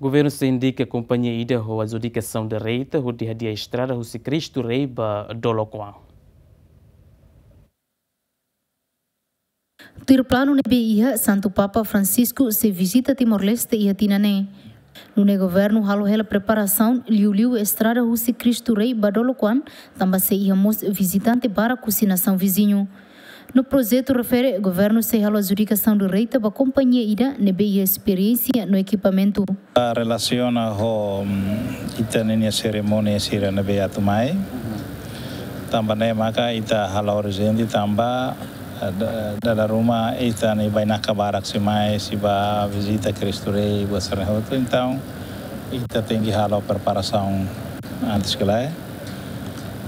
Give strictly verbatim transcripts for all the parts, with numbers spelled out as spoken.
Governu sei indika kompañia ida ho adjudikasaun direita hodi hadi'a estrada husi Cristo Rei ba Dolokoan. Tuir planu ne'ebé iha, Santu Papa Francisco sei vizita Timor-Leste iha tinan ne'e. Nune'e governu halo hela preparasaun liuliu estrada husi Cristo Rei ba Dolokoan, tanba sei iha mós vizitante barak husi nasaun viziñu. No projetu refere, governu sei halo adjudikasaun direita ba kompañia ida ne'ebé iha esperiénsia no ekipamentu. Relasiona ho, mm, ita-nia serimónia sira ne'ebé atu mai. Tanba ne'e maka ita halo urjente tanba, eh, da-, dala ruma ita-nia bainaka barak sei mai, sei bá vizita Cristo Rei, buat sira-ne'e hotu. Entaun, ita tenke halo preparasaun antes que lá.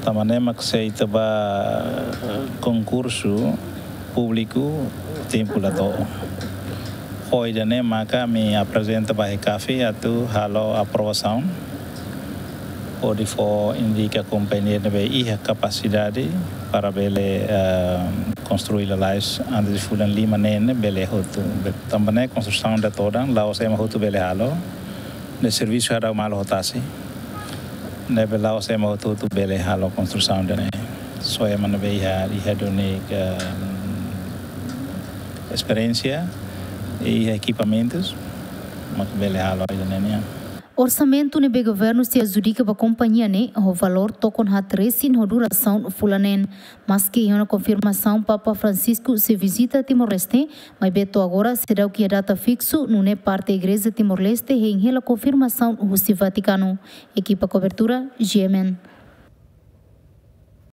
Tanba ne'e mak se ita bá konkursu públiku tempu la to'o. Ho ida-ne'e maka ami aprezenta ba HECAFI atu halo aprovasaun hodi fó indika kompañia ne'ebé iha kapasidade para bele, eh, konstrui lalais antes de fulan lima ne'e, ne'e bele hotu. Tanba ne'e konstrusaun ida todan, la'ós ema hotu bele halo. Ne'e servisu hadau malu ho tasi. Ne'ebé la'ós ema hotu-hotu bele halo konstrusaun ida-ne'e. Só ema ne'ebé iha, iha duni, eh, esperiénsia, iha ekipamentus, mak bele halo ida-ne'e nian. Orsamentu ne'ebé governu sei adjudika ba kompañia ne'e, ho valór tokon haat resin ho durasaun fulan neen. Maski iha ona konfirmasaun Papa Francisco sei vizita Timor-Leste, maibé to'o agora seidauk iha data fiksu, nune'e parte Igreja Timor-Leste hein hela konfirmasaun husi Vatikanu. Ekipa kobertura, G M N.